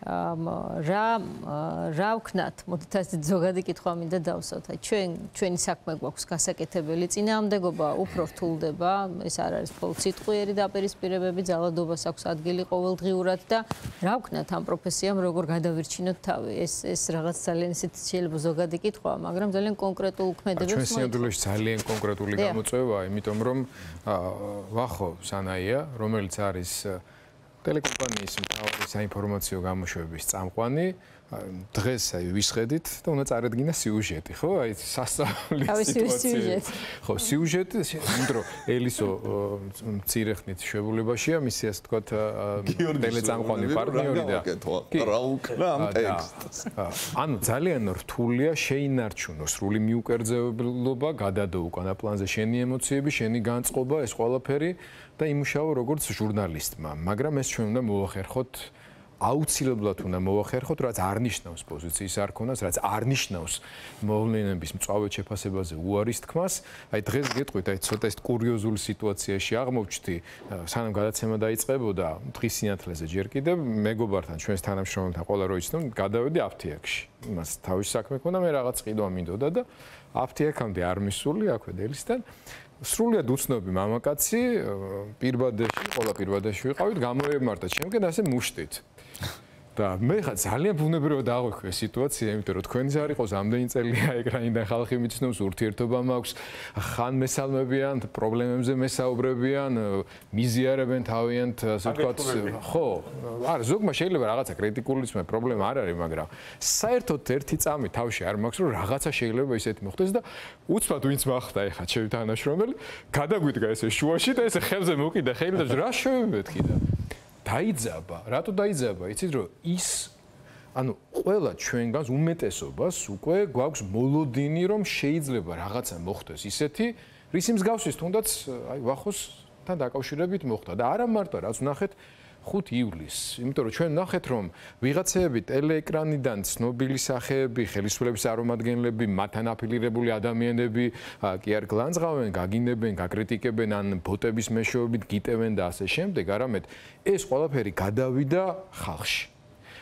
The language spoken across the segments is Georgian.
რა ვქნათ, მოდით ასე ზოგადი კითხვა მინდა დავსვათ. ჩვენი საქმე გვაქვს გასაკეთებელი, წინააღმდეგობა უფრო რთულდება, ეს არ არის მხოლოდ სიტყვიერი დაპირისპირებები, ძალადობას აქვს ადგილი ყოველდღიურად და რა ვქნათ ამ პროფესიამ, როგორ გადავირჩინოთ თავი. ეს რაღაც ძალიან ისეთ შეიძლება ზოგადი კითხვაა, მაგრამ ძალიან კონკრეტულ ქმედებებს ჩვენ სიამდვილეში ძალიან კონკრეტული გამოწვევაა, იმიტომ რომ ვახო სანაია, რომელიც არის ტელეკომპანიის მთავარი საინფორმაციო გამოშვების წამყვანი, დღეს ვისხედით და უნდა წარედგინა სიუჟეტი, ხო? აი სასწაულის სიტუაცია. ხო, სიუჟეტი, იმიტომ რომ ელისო მცირე ხნით შეგულებაშია, მისი ასე თქვა ტელეწამყვანი პარტნიორი და რა უკრა ამ ტექსტს. ანუ ძალიან რთულია შეინარჩუნო სრული მიუკერძებლობა, გადადო უკანა პლანზე შენი ემოციები, შენი განწყობა, ეს ყველაფერი და იმუშაო როგორც ჟურნალისტმა, მაგრამ ეს ჩვენ უნდა მოვახერხოთ აუცილებლად უნდა მოვახერხოთ, რაც არ ნიშნავს პოზიციის არქონას, რაც არ ნიშნავს მოვლენების მწვავედ შეფასებაზე უარის თქმას. აი დღეს გეტყვით, აი ცოტა ეს კურიოზული სიტუაციაში აღმოჩნდი, სანამ გადაცემა დაიწყებოდა, დღის სინათლეზე ჯერ კიდევ მეგობართან, ჩვენს თანამშრომელთან ყველა რო იცნო, გადავედი აფთიაქში. იმას თავის საქმე ქონდა, მე რაღაც ყიდვა მინდოდა და აფთიაქამდე არ მისული, აქვე დელისთან. სრულიად უცნობი მამაკაცი, პირბადეში, ყველა პირბადეში ვიყავით, გამოემართა ჩემკენ ასე მუშტით. და მე ხა ძალიან ბუნებრივად აღვიქვე სიტუაცია, იმიტომ რომ თქვენი არ იყოს ამდენი წელია ეკრანიდან ხალხი მიცნობს, ურთიერთობა მაქვს, ხან მესალმებიან, პრობლემებზე მესაუბრებიან, მიზიარებენ თავიანთ, ასე ვთქვათ, ხო, არა, ზოგმა შეიძლება რაღაცა კრიტიკული ისმე პრობლემა არ არის, მაგრამ საერთოდ ერთი წამი თავში არ მაქვს, რომ რაღაცა შეიძლება ისეთი მოხდეს და უცბად ვინც მახდა ეხა ჩემი თანამშრომელი, გადაგვიდგა ესე შუაში და ესე ხელზე მოკიდა ხელი და რა შევიმეთქი და დაიძაბა, რატო დაიძაბა? იცით რომ ის ანუ ყველა ჩვენგანს უმეტესობას უკვე გვაქვს მოლოდინი რომ შეიძლება რაღაცა მოხდეს ისეთი, რისი მსგავსის თუნდაც აი ვახოსთან დაკავშირებით მოხდა და არა მარტო რაც ვნახეთ 5 ივლისს, იმიტომ რომ ჩვენ ვნახეთ რომ ვიღაცეები ტელეეკრანიდან ცნობილი სახეები, ხელისუფლების წარმომადგენლები, მათთან აფილირებული ადამიანები კი არ გლანძღავენ, გაგინებენ, გაკრიტიკებენ ან ბოტების მეშვეობით გიტევენ და ასე შემდეგ, არამედ ეს ყველაფერი გადავიდა ხალხში.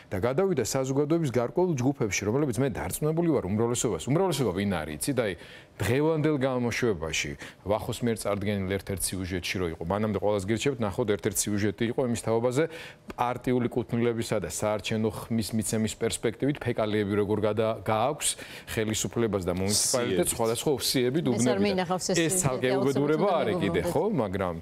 და გადავიდა საზოგადოების გარკვეულ ჯგუფებში, რომლებიც მე დარწმუნებული ვარ უმრავლესობა ვინ არის, იცით, აი დღევანდელ გამოშვებაში ვახოს მიერ წარდგენილ ერთ-ერთ სიუჟეტში რო იყო, მანამდე ყველას გირჩევთ, ნახოთ ერთ-ერთ სიუჟეტი იყო იმის თაობაზე პარტიული კუთვნილებისა და საარჩევნო ხმის მიცემის პერსპექტივით ფეკალიები როგორ გააქვს ხელისუფლებას და მუნიციპალიტეტს სხვადასხვა ოფსიები დუბნები. ეს ცალკე უბედურება არის კიდე, ხო, მაგრამ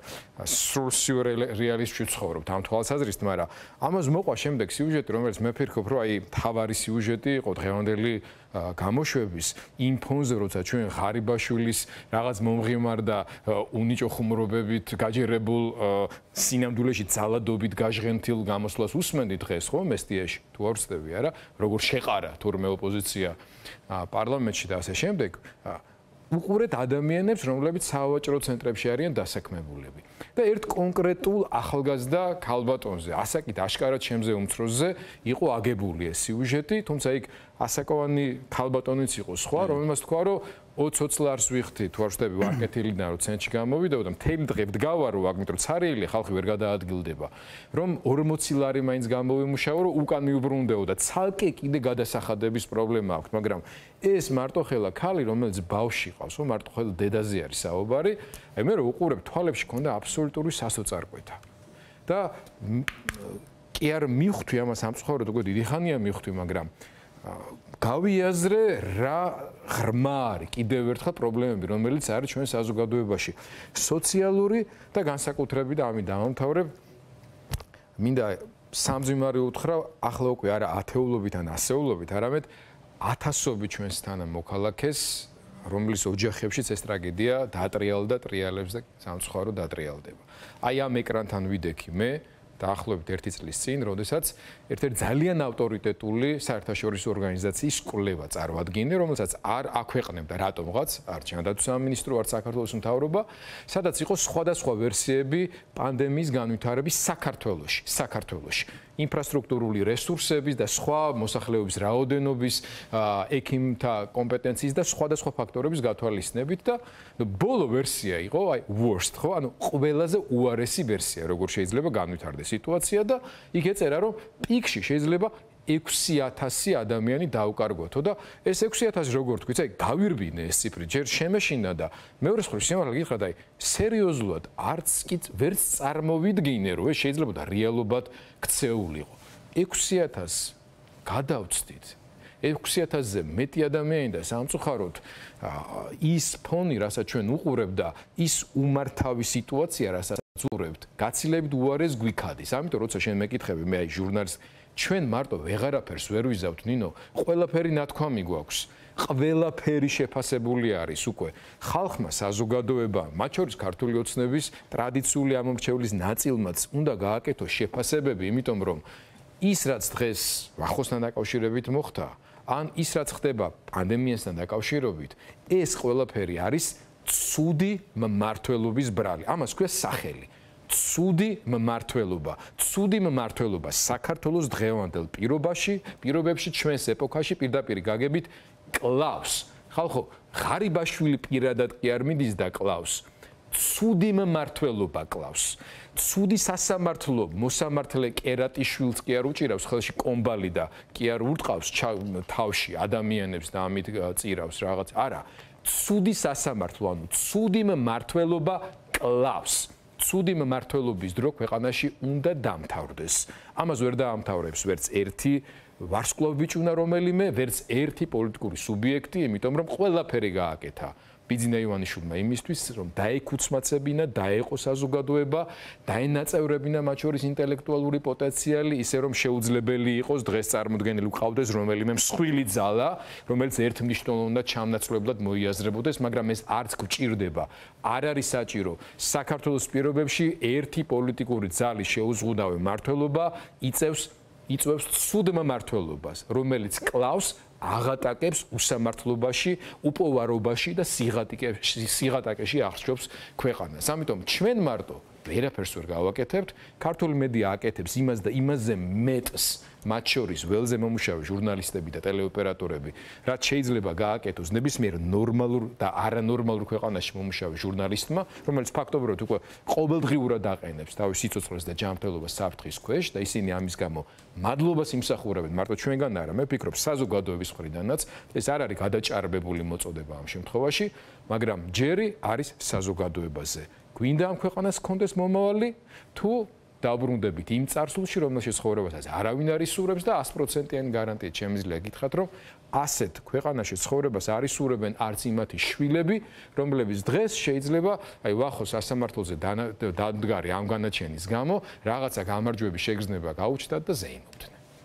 სრულ სიურეალიზმში ვცხოვრობთ ამ თვალსაზრისით, მაგრამ ამას მოყვა შემდეგ სიუჟეტი, რომელიც მე ფიქრობ, რომ აი თავარი სიუჟეტი იყო დღევანდელი გამოშვების იმ ფონზე, როცა ჩვენ ღარიბაშვილის რაღაც მომღიმარ და უნიჭო ხუმრობებით გაჯერებულ სინამდვილეში ძალადობით გაჟღენთილ გამოსვლას უსმენდით დღეს, ხო, მესტიაში, თუ არ ვცდები, არა, როგორ შეყარა თურმე ოპოზიცია პარლამენტში და ასე შემდეგ, უყურეთ ადამიანებს, რომლებიც სავაჭრო ცენტრებში არიან დასაქმებულები. და ერთ კონკრეტულ ახალგაზრდა ქალბატონზე, ასაკით აშკარად ჩემზე უმცროსზე იყო აგებული ეს სიუჟეტი, თუმცა იქ ასაკოვანი ქალბატონიც იყო სხვა, რომელმაც თქვა, რომ 20 ლარს ვიხდი, თუ არ ვშტები ვარკეთილიდან, რომ ცენტრში გამოვიდა და მთელი დღე ვდგავარო, ამიტომ ცარიელი ხალხი ვერ გადაადგილდება, რომ 40 ლარი მაინც გამოვიმუშაო, რომ უკან მიუბრუნდეო და ცალკე კიდე გადასახადების პრობლემა აქვს, მაგრამ ეს მარტოხელა ქალი, რომელიც ბავშვი ყავს, ხო, მარტოხელა დედაზე არის საუბარი, აი მე რო უყურებ თვალებში ქონდა აბსოლუტური სასოწარკვეთა. და კი არ მივხვდი ამას ამცხოვრად, უკვე დიდი ხანია მივხვდი, მაგრამ გავიაზრე რა ღრმა არის კიდევ ერთხელ პრობლემები, რომელიც არის ჩვენ საზოგადოებაში, სოციალური და განსაკუთრებით და ამით დავამთავრებ, მინდა სამძიმარი უთხრა, ახლა უკვე არა ათეულობით ან ასეულობით, არამედ ათასობით ჩვენს თანამოქალაქეს, რომლის ოჯახებშიც ეს ტრაგედია დაატრიალდა, ტრიალებს და სამწუხარო დაატრიალდება. აი ამ ეკრანთან ვიდექი მე დაახლოებით 1 წლის წინ, როდესაც ერთ-ერთი ძალიან ავტორიტეტული საერთაშორისო ორგანიზაციის კვლევა წარმოადგინე, რომელსაც არ აქვეყნებდა რატომღაც, არ ჩანდათვის სამინისტრო, არ საქართველოს მთავრობა, სადაც იყო სხვადასხვა ვერსიები პანდემიის განვითარების საქართველოში. ინფრასტრუქტურული რესურსების და სხვა მოსახლეობის რაოდენობის, ექიმთა კომპეტენციის და სხვადასხვა ფაქტორების გათვალისწინებით და ბოლო ვერსია იყო, აი worst, ხო, ანუ ყველაზე უარესი ვერსია, როგორ შეიძლება განვითარდეს სიტუაცია და იქ ეწერა, რომ პიკში შეიძლება 6,000 ადამიანი დაუკარგვათო და ეს 6,000 როგორ თქვით, აი გავირბინე ეს ციფრი, ჯერ შემეშინა და მეორე მხრივ შემალა გითხრათ, აი სერიოზულად არც კი ვერც წარმოვიდგინე, რომ ეს შეიძლება და რეალობად ქცეულიყო. 6,000 გადავწდით. 6,000-ზე მეტი ადამიანი და სამწუხაროდ ის ფონი, რასაც ჩვენ უყურებთ და ის უმართავი სიტუაცია, რასაც უყურებთ, გაცილებით უარეს გვიქადის. ამიტომ როცა შენ მეკითხები, მე აი ჟურნალისტ, ჩვენ მარტო ვეღარაფერს ვერ ვიზავთ, ნინო, ყველაფერი ნათქვამი გვაქვს. ყველაფერი შეფასებული არის უკვე ხალხმა, საზოგადოებამ, მათ შორის ქართული ოცნების ტრადიციული ამომრჩევლის ნაწილმაც უნდა გააკეთოს შეფასებები, იმიტომ რომ ის რაც დღეს ახლოსთან დაკავშირებით მოხდა, ან ის რაც ხდება პანდემიასთან დაკავშირებით, ეს ყველაფერი არის ცუდი მმართველობის ბრალი. ამას ქვია სახელი. ცუდი მმართველობა. ცუდი მმართველობა საქართველოს დღევანდელ პირობებში, ჩვენს ეპოქაში პირდაპირ გაგებით კლავს. ხალხო, ღარიბაშვილი პირადად კი არ მიდის და კლავს. ცუდი მმართველობა კლავს. ცუდი სასამართლო მოსამართლე კერატიშვილს კი არ უჭირავს ხელში კომბალი და კი არ ურტყავს თავში ადამიანებს და ამით წირავს რაღაც. არა, ცუდი სასამართლო, ანუ ცუდი მმართველობა კლავს. ცუდი მმართველობის დრო ქვეყანაში უნდა დამთავრდეს. ამას ვერ დაამთავრებს ვერც ერთი ვარსკვლავი ბიჭუნა რომელიმე, ვერც ერთი პოლიტიკური სუბიექტი, იმიტომ რომ ყველაფერი გააკეთა ბიძინა ივანიშვილმა იმისთვის, რომ დაეკუცმაცებინა, დაეყო საზოგადოება, დაენაწევრებინა მათ შორის ინტელექტუალური პოტენციალი, ისე რომ შეუძლებელი იყოს დღეს წარმოდგენილი ვყავდეს რომელიმე მსხვილი ძალა, რომელიც ერთმნიშვნელოვნად ჩამნაცვლებლად მოიაზრებოდეს, მაგრამ ეს არც გვჭირდება. არ არის საჭირო. საქართველოს პირობებში ერთი პოლიტიკური ძალის შეუზღუდავი მმართველობა იწევს ცუდ მმართველობას, რომელიც კლავს აღატაკებს უსამართლობაში, უპოვარობაში და სიღატაკეში აღსჯობს ქვეყანას. ამიტომ ჩვენ მარტო ვერაფერს ვერ გავაკეთებთ, ქართული მედია აკეთებს იმას და იმაზე მეტს, მათ შორის ველზე მომუშავე ჟურნალისტები და ტელეოპერატორები, რაც შეიძლება გააკეთოს ნებისმიერ ნორმალურ და არანორმალურ ქვეყანაში მომუშავე ჟურნალისტმა, რომელიც ფაქტობრივად უკვე ყოველდღიურად აყენებს თავის სიცოცხლეს და ჯანმრთელობას საფრთხის ქვეშ და ისინი ამის გამო მადლობას იმსახურებენ მარტო ჩვენგან არა, მე ვფიქრობ საზოგადოების მხრიდანაც ეს არ არის გადაჭარბებული მოწოდება ამ შემთხვევაში, მაგრამ ჯერი არის საზოგადოებაზე. გვინდა ამ ქვეყანას ჰქონდეს მომავალი თუ დაბრუნდებით იმ წარსულში, რომელშიც ცხოვრებასაც არავინ არ ისურვებს და 100%-იანი გარანტიით შემიძლია გითხრათ, რომ ასეთ ქვეყანაში ცხოვრებას არ ისურვებენ არც იმათი შვილები, რომლებიც დღეს შეიძლება აი ვახოს სასამართლოზე დამდგარი ამ განაჩენის გამო რაღაცა გამარჯვების შეგრძნება გაუჩნდათ და ზეიმობდნენ.